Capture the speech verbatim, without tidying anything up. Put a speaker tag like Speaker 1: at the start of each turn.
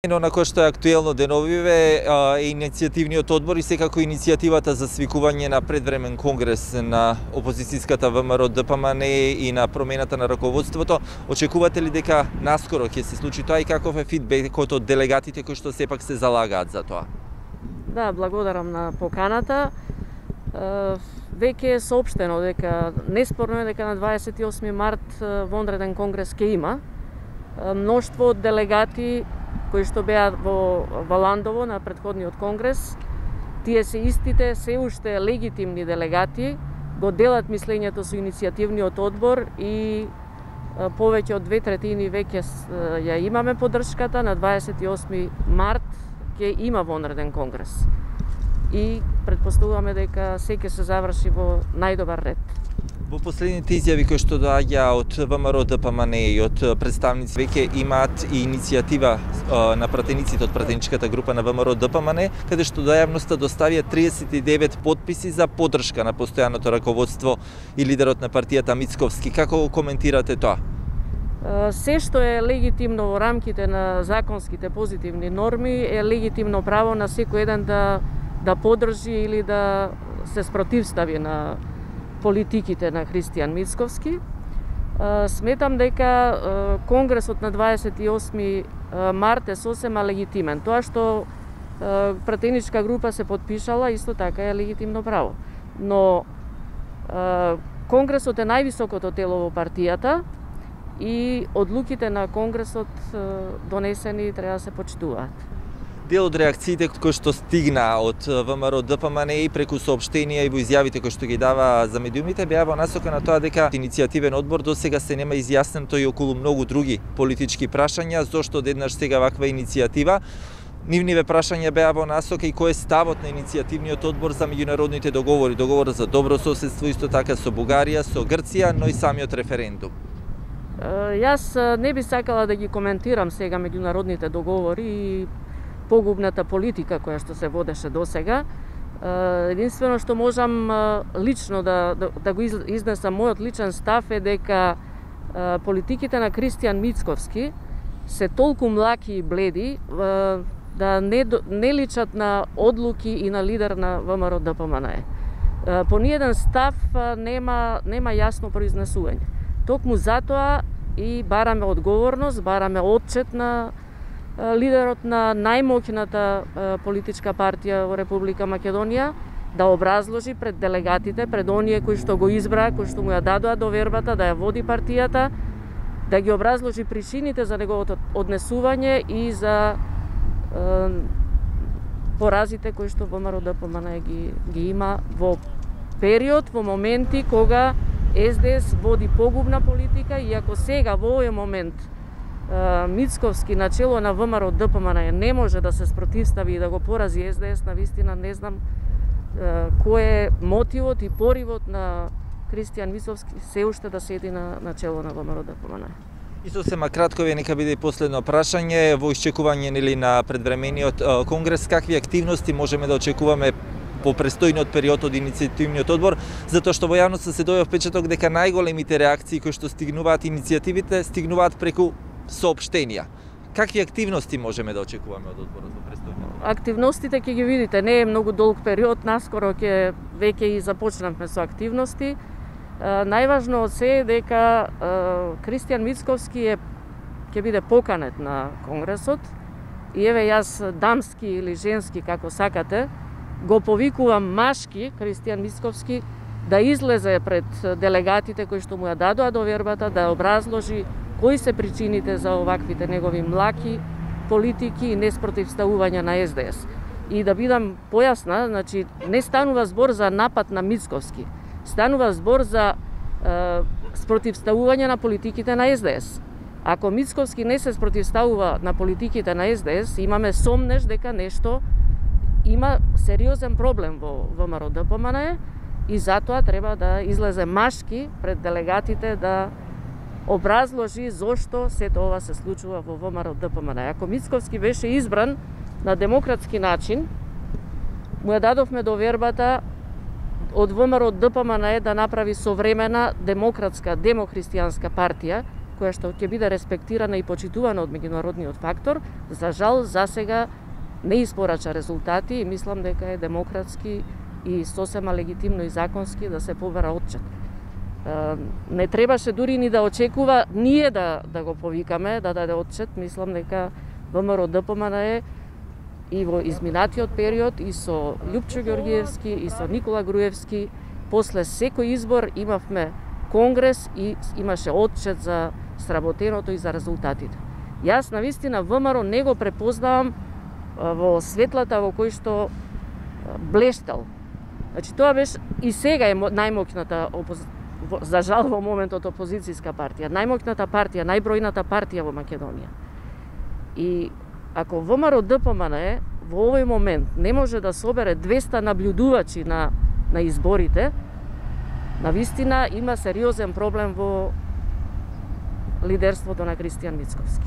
Speaker 1: На кој што е актуелно деновиве е иницијативниот одбор и секако иницијативата за свикување на предвремен конгрес на опозицијската ВМРО Д П М Н и на промената на раководството. Очекувате ли дека наскоро ќе се случи тоа и каков е фидбекот од делегатите кои што сепак се залагаат за тоа?
Speaker 2: Да, благодарам на поканата. Веќе е соопштено дека неспорно е дека на дваесет и осми март вонреден конгрес ќе има. Мноштво од делегати кои што беа во, во Ландово на претходниот конгрес, тие се истите, се уште легитимни делегати, го делат мислењето со иницијативниот одбор и повеќе од две третини веќе ја имаме поддршката. На дваесет и осми март ќе има вонреден конгрес. И претпоставуваме дека се ќе се заврши во најдобар ред.
Speaker 1: Во последните изјави кои што доаѓа од ВМРО Д П М Н и од представници веќе имаат и иницијатива на пратениците од пратеничката група на ВМРО Д П М Н, каде што до јавноста доставија триесет и девет потписи за поддршка на постојаното раководство и лидерот на партијата Мицковски. Како го коментирате тоа?
Speaker 2: Се што е легитимно во рамките на законските позитивни норми е легитимно право на секој еден да да поддржи или да се спротивстави на политиките на Христијан Мицковски. Сметам дека конгресот на дваесет и осми март е сосема легитимен. Тоа што пратеничка група се подпишала, исто така е легитимно право. Но конгресот е највисокото тело во партијата и одлуките на конгресот донесени треба да се почитуваат.
Speaker 1: Дел од реакциите кои што стигна од ВМРО Д П М Н и преку соопштенија и во изјавите кои што ги дава за медиумите беа во насока на тоа дека иницијативен одбор до сега се нема изјаснето и околу многу други политички прашања, зошто одеднаш сега ваква иницијатива. Нивниве прашања беа во насока и кој е ставот на иницијативниот одбор за меѓународните договори, договор за добро соседство, исто така со Бугарија, со Грција, но и самиот референдум.
Speaker 2: Јас не би сакала да ги коментирам сега меѓународните договори и погубната политика која што се водеше до сега. Единствено што можам лично да, да, да го изнесам, мојот личен став е дека политиките на Христијан Мицковски се толку млаки и бледи да не, не личат на одлуки и на лидер на ВМРО Д П М Н. По ниеден став нема, нема јасно произнесување. Токму затоа и бараме одговорност, бараме отчет на лидерот на најмоќната политичка партија во Република Македонија да образложи пред делегатите, пред оние кои што го избраа, кои што му ја дадоа довербата да ја води партијата, да ги образложи причините за неговото однесување и за е, поразите кои што ВМРО Д П М Н ги, ги има во период, во моменти кога С Д С води погубна политика и ако сега во овој момент Мицковски начело на ВМРО Д П М Н не може да се спротивстави и да го порази С Д С, навистина не знам кој е мотивот и поривот на Христијан Мицковски се уште да седи на начело на ВМРО Д П М Н.
Speaker 1: И сосема кратко ве нека биде и последно прашање во исчекување нели на предвремениот конгрес, какви активности можеме да очекуваме по престојниот период од иницијативниот одбор, затоа што во јавноста се дојде впечаток дека најголемите реакции кои што стигнуваат иницијативите стигнуваат преку соопштенија. Какви активности можеме да очекуваме од одборот во престојниот?
Speaker 2: Активностите ќе ги видите, не е многу долг период, наскоро ќе веќе и започнавме со активности. Најважно од се е дека Христијан Мицковски е ќе биде поканет на конгресот и еве јас дамски или женски како сакате го повикувам машки Христијан Мицковски да излезе пред делегатите кои што му ја дадоа довербата да образложи кои се причините за оваквите негови млаки политики и неспротивставување на С Д С. И да бидам појасна, значи не станува збор за напад на Мицковски, станува збор за е, спротивставување на политиките на С Д С. Ако Мицковски не се спротивставува на политиките на С Д С, имаме сомнеш дека нешто има сериозен проблем во ВМРО Д П М Н и затоа треба да излезе машки пред делегатите да образложи зошто сето ова се случува во ВМРО Д П М Н. Ако Мицковски беше избран на демократски начин, му ја дадовме довербата од ВМРО Д П М Н да направи современа демократска демохристијанска партија која што ќе биде респектирана и почитувана од меѓународниот фактор, за жал засега не испорача резултати и мислам дека е демократски и сосема легитимно и законски да се побара отчет. Не требаше дури ни да очекува ние да, да го повикаме, да даде отчет. Мислам дека ВМРО Д П М Н е и во изминатиот период и со Љупчо Ѓоргиевски и со Никола Груевски, после секој избор имавме конгрес и имаше отчет за сработеното и за резултатите. Јас навистина ВМРО не го препознавам во светлата во кој што блештел. Значи тоа беше и сега е најмоќната опози... за жал во моментот опозицијска партија, најмоќната партија, најбројната партија во Македонија. И ако ВМРО Д П М Н во овој момент не може да собере двеста наблюдувачи на на изборите, навистина има сериозен проблем во лидерството на Кристијан Мицковски.